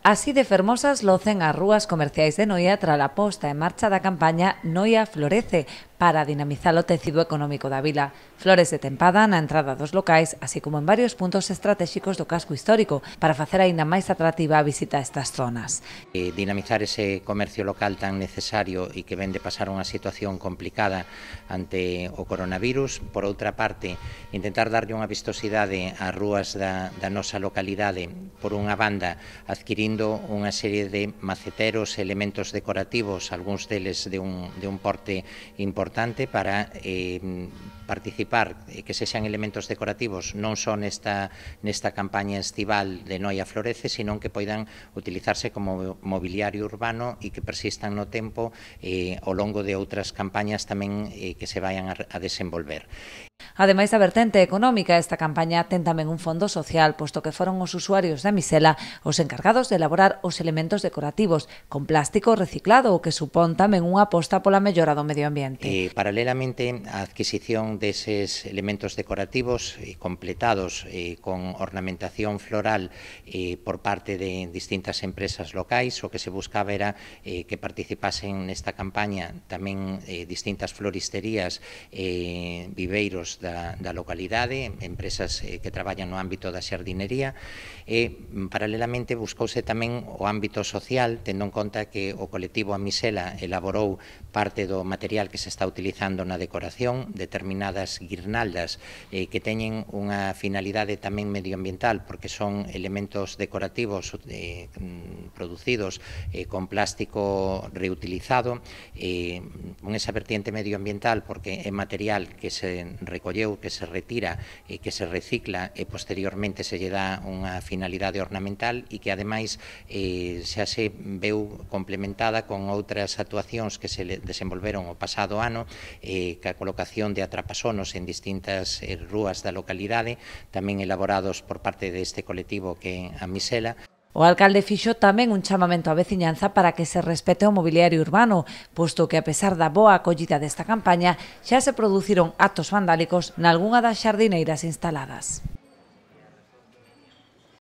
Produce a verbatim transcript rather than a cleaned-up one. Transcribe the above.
Así de fermosas locen as rúas comerciais de Noia tras a posta en marcha da campaña Noia Florece para dinamizar o tecido económico da vila. Flores de tempada na entrada dos locais, así como en varios puntos estratégicos do casco histórico para facer aínda máis atractiva a visita a estas zonas. Eh, dinamizar ese comercio local tan necesario e que ven de pasar unha situación complicada ante o coronavirus. Por outra parte, intentar darlle unha vistosidade ás rúas da, da nosa localidade, por unha banda, adquirindo unha serie de maceteros, elementos decorativos, algúns deles de un, de un porte importante para eh, participar, eh, que sexan elementos decorativos non só nesta, nesta campaña estival de Noia Florece, sino que poidan utilizarse como mobiliario urbano e que persistan no tempo eh, ao longo de outras campañas tamén eh, que se vayan a, a desenvolver. Ademais da vertente económica, esta campaña ten tamén un fondo social, posto que foron os usuarios da misela os encargados de elaborar os elementos decorativos con plástico reciclado, o que supón tamén unha aposta pola mellora do medio ambiente. Eh, paralelamente, a adquisición deses elementos decorativos eh, completados eh, con ornamentación floral eh, por parte de distintas empresas locais, o que se buscaba era eh, que participasen nesta campaña tamén eh, distintas floristerías, eh, viveiros Da, da localidade, empresas eh, que traballan no ámbito da xardinería e, paralelamente, buscouse tamén o ámbito social, tendo en conta que o colectivo A Misela elaborou parte do material que se está utilizando na decoración, determinadas guirnaldas eh, que teñen unha finalidade tamén medioambiental, porque son elementos decorativos eh, producidos eh, con plástico reutilizado, eh, con esa vertiente medioambiental, porque é material que se recolle que se retira e que se recicla e posteriormente se lle dá unha finalidade ornamental e que ademais eh, xa se veu complementada con outras actuacións que se desenvolveron o pasado ano, eh, ca colocación de atrapasonos en distintas eh, rúas da localidade, tamén elaborados por parte deste colectivo que é A Misela. O alcalde fixo tamén un chamamento á veciñanza para que se respete o mobiliario urbano, posto que, a pesar da boa acollida desta campaña, xa se produciron actos vandálicos nalgunha das xardineiras instaladas.